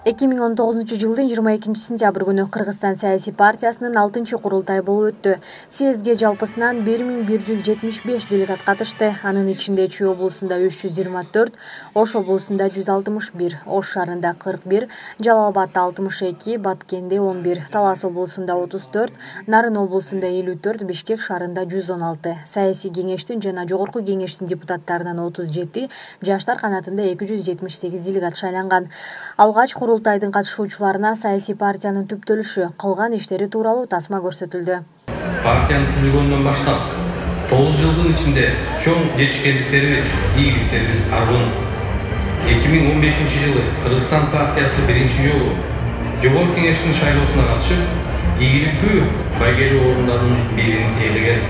2019-жылдын 22-сентябрь күнү Кыргызстан саясий партиясынын 6-чы курултайы болуп өттү. Съездге жалпысынан 1175 делегат катышты. Анын ичинде Чүй облусунда 324, Ош облусунда 161, Ош шаарында 41, Жалал Абадда 62, Баткенде 11, Талас облусунда 34, Нарын облусунда 54, Бишкек шаарында 116. Саясий кеңештин жана жогорку кеңештин депутаттарынан 37, жаштар канатында 278 делегат шайланган. Алгач курултайдын катышуучуларына саясий партиянын түптөлүшү, кылган иштери тууралуу тасма көрсөтүлдү. Партиянын түзүлгөндөн баштап 9 жылдын ичинде чоң жетишкендиктерибиз, ийгиликтерибиз аргын. 2015-жылы Кыргызстан партиясы биринчи жолу жогорку кеңештин шайлоосуна катышып, ийгиликтүү байгелүү орундардын бирин ээлеген.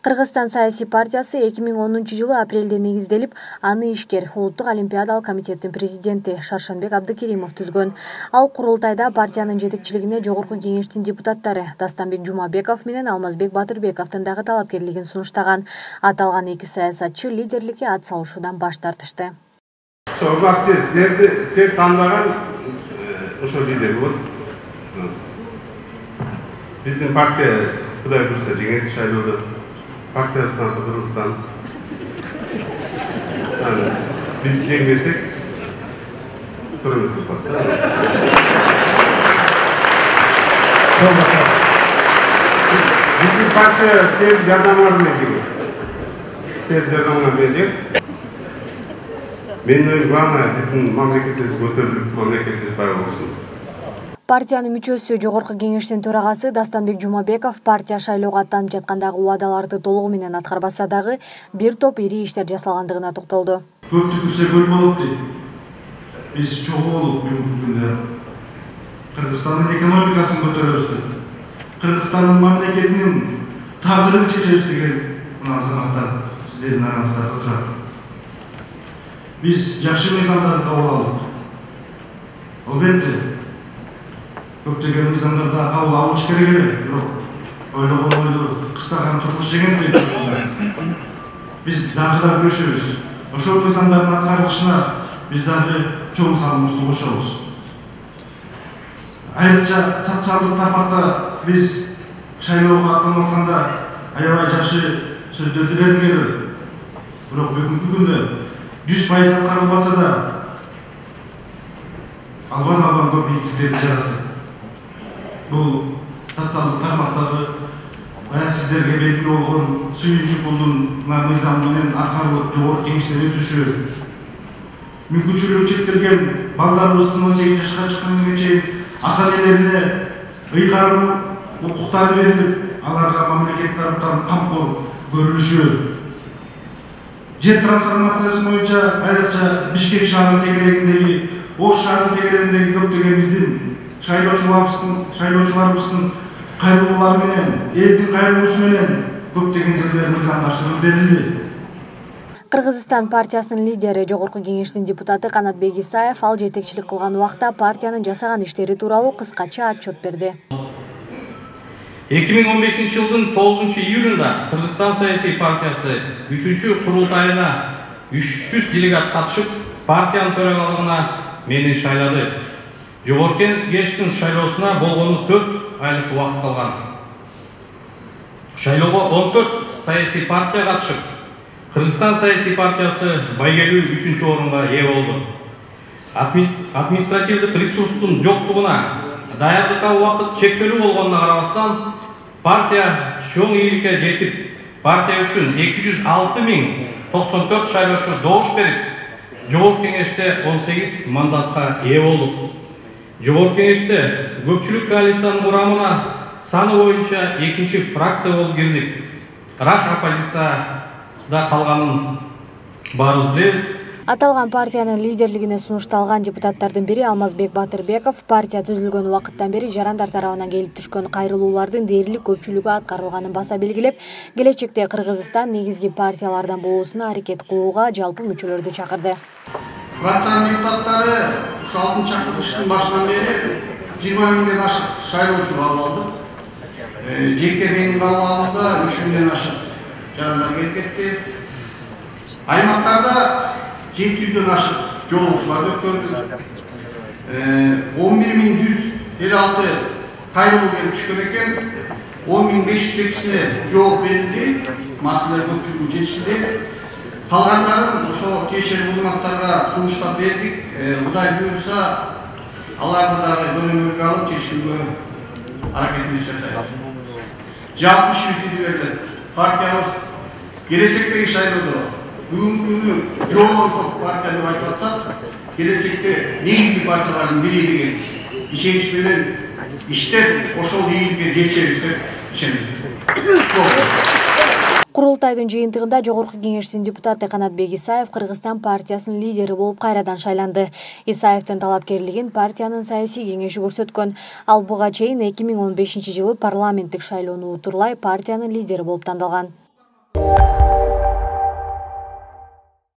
Кыргызстан саясий партиясы 2010-жылы апрелде негизделип, аны ишкер Улуттук олимпиадалык комитеттин президенти Шаршенбек Абдыкеримов түзгөн. Ал курултайда партиянын жетекчилигине жогорку кеңештин депутаттары Дастанбек Жумабеков менен Алмазбек Батырбековдун дагы талапкерлигин сунуштаган. Аталган эки саясатчы лидерликке ат салышуудан баш тартышты. Силер тандаган ошол лидер болот. Биздин партия Кудай буйрса жеңет шайлоодо. Партиясынан Кыргызстан. Биз жеңбесек, турабыз да. Биздин партия сен жардамы менен жеңет. Сен жардамы менен жеңет. Менин оюм главное биздин мамлекетибиз көтөрүлүп, мамлекетибиз бай болсун. Партиянын мүчөсү жогорку кеңештин төрагасы Дастанбек Жумабеков партия шайлоого аттанып жаткандагы убадаларды толугу менен аткарбаса дагы бир топ ири иштер жасалгандыгына токтолду. Көптү күрсө көл болот дейт. Биз чогуу болуп бүгүнкү күндө Кыргызстандын экономикасын көтөрөбүз деп, Кыргызстандын мамлекетинин тагдырын чечебиз деген мына азаматтар сиздердин араңызда отурат. Биз жакшы мыйзамдарды кабыл алдык. Албетте көптөгөн мыйзамдарда кабыл алыш керек эле, бирок ойлогон ойду кыстаган турмуш деген дейт. Биз дагы да күрөшөбүз. Ошол мыйзамдардын аткарылышына биз дагы чоң салымыбызды кошобуз. Айрыкча социалдык тармакта биз шайлоого аттанып атканда аябай жакшы сөздөрдү белгиледи. Бирок бүгүнкү күндө 100% аткарылбаса да албан көп ийгиликтерди жаратты. Бул социалдык тармактагы баягы сиздерге белгилүү болгон сүйүнчү пулдун мыйзамы менен аткарылып жогорку кеңештен өтүшү, мүмкүнчүлүгү чектелген балдарыбыздын 18 жашка чыкканга чейин ата-энелерине ыйгарым укуктары берилип, аларга мамлекет тарапынан камкор көрүлүшү, жер трансформациясы боюнча айрыкча Бишкек шаарынын тегерегиндеги, Ош шаарынын тегерегиндеги көптөгөн биздин шайлоочуларыбыздын кайрылуулары менен, элдин кайрылуусу менен көптөгөн жерлер мыйзамдаштырылып берилди. Кыргызстан партиясынын лидери, жогорку кеңештин депутаты Канатбек Исаев ал жетекчилик кылган убакта партиянын жасаган иштери тууралуу кыскача отчет берди. 2015-жылдын 9 июлунда Кыргызстан саясий партиясы 3-чү курултайына 300 делегат катышып, партиянын төрагалыгына мени шайлады. Жогорку кеңештин шайлоосуна болгону 4 айлык убакыт калган. Шайлоого 14 саясий партия катышып, Кыргызстан саясий партиясы байгелүү 3-чү орунга ээ болду. Административдик ресурстун жоктугуна, даярдыкка убакыт чектелүү болгонуна карабастан, партия чоң ийгиликке жетип, партия үчүн 206.094 шайлоочу добуш берип, жогорку кеңеште 18 мандатка ээ болдук. Жогорку кеңеште көпчүлүк коалициянын курамына саны боюнча 2-чи фракция болуп кирдик. Раш оппозицияда калганын баарыбыз билебиз. Аталган партиянын лидерлигине сунушталган депутаттардын бири Алмазбек Батырбеков партия түзүлгөн убакыттан бери жарандар тарабынан келип түшкөн кайрылуулардын дээрлик көпчүлүгү аткарылганын баса белгилеп, келечекте Кыргызстан негизги партиялардан болуусуна аракет кылууга жалпы мүчөлөрдү чакырды. Фракциянын депутаттары 6-чы чакырылыштын башынан бери 20 миңден ашык шайлоочу кабыл алдык. Жеке менин кабыл 3 миңден ашык жарандар келип кетти. Аймактарда 700дөн ашык жолугушуулар өткөрдүк. 11.156 кайрылуу келип түшкөн экен. 10.508-не жооп берилди. Маселелер көпчүлүгү чечилди. Калгандарын ошо тиешелүү кызматтарга сунуштап бердик. Кудай буйрса, аларды дагы көзөмөлгө алып чечүүгө аракетибиз жасайбыз. Жалпы ишибизди партиябыз келечектеги шайлоодо бүгүнкү күнү жогору топ партия деп айтып атсак, келечекте негизги партиялардын бири деген ишенич менен иштеп, ошол ийгиликке жетишебиз деп ишенем. Курултайдын жыйынтыгында Жогорку Кеңештин депутаты Канатбек Исаев Кыргызстан партиясынын лидери болуп кайрадан шайланды. Исаевдин талапкерлигин партиянын саясий кеңеши көрсөткөн. Ал буга чейин 2015-жылы парламенттик шайлоону утурлай партиянын лидери болуп тандалган.